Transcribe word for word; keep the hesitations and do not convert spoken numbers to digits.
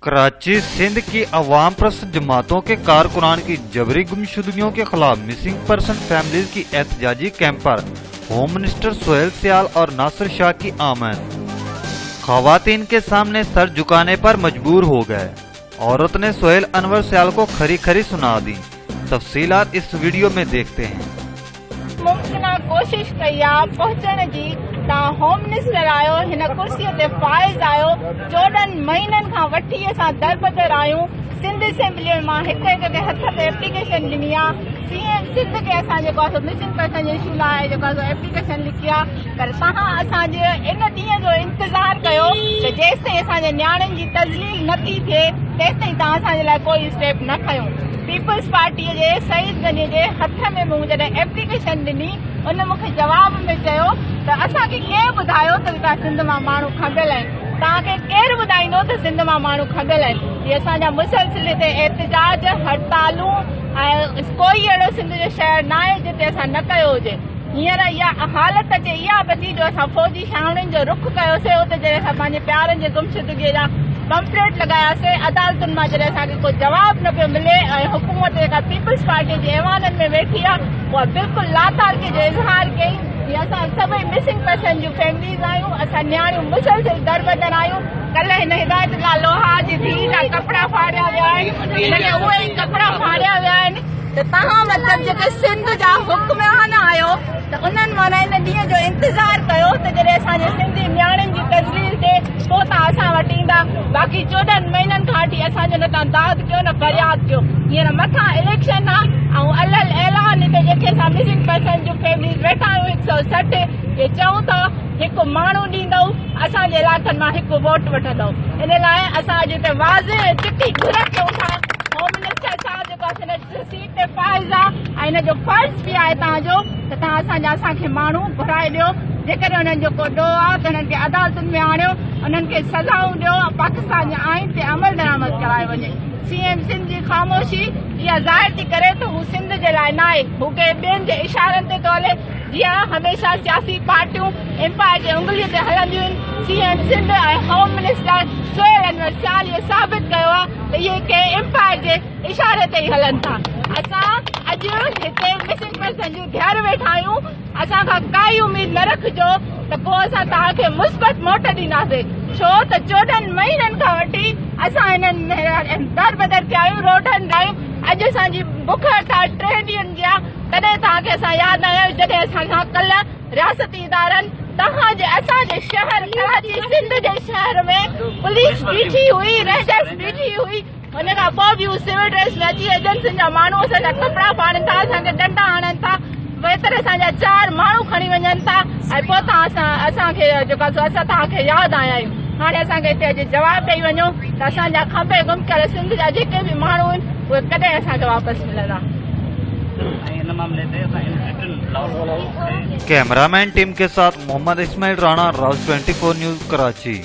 कराची सिंध की अवाम परस्त जमातों के कारकुनान की जबरी गुमशुदगियों के खिलाफ मिसिंग पर्सन फैमिलीज की एहतजाजी कैंप पर होम मिनिस्टर सोहेल सियाल और नासिर शाह की आमद। खवातीन के सामने सर झुकाने पर मजबूर हो गए। औरत ने सोहेल अनवर सियाल को खरी खरी सुना दी। तफसीलात इस वीडियो में देखते हैं। मुमकिन कोशिश कई आहे पहुचण जी, तव्हां होम मिनिस्टर आहियो, हिन कुर्सीअ ते फाइज़ आहियो। चोॾहं महीननि खां वठी असां दरबदर आहियूं। सिंध असेंबली में मां हिकु हिकु खे हथ ते एप्लीकेशन ॾिनी आहे। सी एम सिंध खे असां जेको आहे मिसिंग पर्सन जे इशू लाइ जेको आहे एप्लीकेशन लिखी आहे, पर तव्हां असांजे इन ॾींहं जो इंतज़ार कयो त जेसिताईं असांजे नियाणियुनि जी तज़लील नथी थिए तेसिताईं तव्हां असांजे लाइ कोई स्टेप न खयो। पीपल्स पार्टीअ जे सईद गनी जे हथ में मूं जॾहिं एप्लीकेशन ॾिनी, उन मूंखे जवाब में चयो त असांखे केरु ॿुधायो त हितां सिंध मां माण्हू खबियल आहिनि? तव्हांखे केरु ॿुधाईंदो त सिंध मां माण्हू खबियल आहिनि? हीअ असांजा मुसलसिल हिते एहतजाज, हड़तालूं ऐं कोई अहिड़ो सिंध जो शहर न आहे जिते असां न कयो हुजे। हींअर इहा हालत अचे इहा बची जो असां फौजी छावणियुनि जो रुख कयोसीं, उते जॾहिं असां पंहिंजे प्यारनि जे गुमशुदगीअ जा पंपलेट लॻायासीं, अदालतुनि मां जॾहिं असांखे को जवाबु न पियो मिले ऐं हुकूमत जेका पीपल्स पार्टी जे ऐवाननि में वेठी आहे उहा बिल्कुलु लातालकी जो इज़हार कई। हीअ असां सभई मिसिंग पर्सन जूं फैमिलीज़ आहियूं, असां नियाणियूं मुसलसिल दरबदर आहियूं। कल्ह हिन हिदायत लोहार जी धीउ जा कपिड़ा फाड़िया विया आहिनि, हिनखे उहे ई कपिड़ा फाड़िया विया आहिनि। त तव्हां मतिलबु जेके सिंध जा हुक्मरान आहियो त उन्हनि माना इन ॾींहं जो इंतज़ार कयो त जॾहिं असांजे सिंधी नियाणियुनि जी तज़लील थिए पोइ तव्हां असां वटि ईंदा। बाक़ी चोॾहं महीननि खां वठी असांजो न तव्हां दाद कयो न फरियाद कयो। हींअर मथां इलेक्शन आहे ऐं अलल ऐलान हिते जेके असां मिसिंग पर्सन जूं फैमिलीज़ वेठा आहियूं हिकु सौ सठि, इहे चऊं था हिकु माण्हू ॾींदव असांजे इलाइक़नि मां हिकु वोट वठंदव। इन लाइ असां अॼु हिते वाज़े चिटी घुर कयूं था। होम मिनिस्टर साहिबु जेको आहे सीट ते फाइज़ आहे ऐं हिन जो फ़र्ज़ बि आहे तव्हांजो त तव्हां असांजा असांखे माण्हू घुराए ॾियो। जेकॾहिं हुननि जो को ॾोह आहे त हुननि खे अदालतुनि में आणियो, उन्हनि खे सज़ाऊं ॾियो, पाकिस्तान जे आइन ते अमल दरामद करायो वञे। सी एम सिंध जी ख़ामोशी इहा ज़ाहिर थी करे त हू सिंध जे लाइ न आहे, हू कंहिं ॿियनि जे इशारनि ते थो हले। जीअं हमेशह सियासी पार्टियूं एम्पायर जे उंगलीअ ते हलंदियूं आहिनि, सी एम सिंध ऐं होम मिनिस्टर सोहेल अनवर सियाल इहो साबित कयो आहे त इहे कंहिं एम्पायर जे इशारे ते ई हलनि था। असां अॼु हिते मिसिंग पर्सन जूं धियर वेठा आहियूं। असां खां काई उमेद न रखिजो त पोइ असां तव्हांखे मुस्बत मोट ॾींदासीं, छो त चोॾहं महीननि खां वठी असां हिननि दर बदर थिया आहियूं, रोडनि आहियूं। अॼु असांजी बुख हड़ताल टे ॾींहंनि जी आहे, तॾहिं तव्हांखे असां यादि आया आहियूं जॾहिं असां खां कल्ह रियासती इदारनि तव्हांजे असांजे शहर कराची सिंध जे शहर में पुलिस बीठी हुई, रेंजर्स बीठी हुई, उन खां पोइ बि हू सिविल ड्रेस में अची एजेंसियुनि जा माण्हू असांजा कपिड़ा फाड़नि था, असांखे डंडा हणनि था, वेतर असांजा चारि माण्हू खणी वञनि था ऐं पोइ तव्हां असां असांखे जेको आहे असां तव्हांखे यादि आया आहियूं। हाणे असांखे हिते अॼु जवाबु ॾेई वञो त असांजा खंभे गुम कयल सिंध जा जेके बि माण्हू आहिनि उहे कॾहिं असांखे वापसि मिलंदा। कैमरामैन टीम के साथ मोहम्मद इस्माइल राणा, राज ट्वेंटी फोर न्यूज, कराची।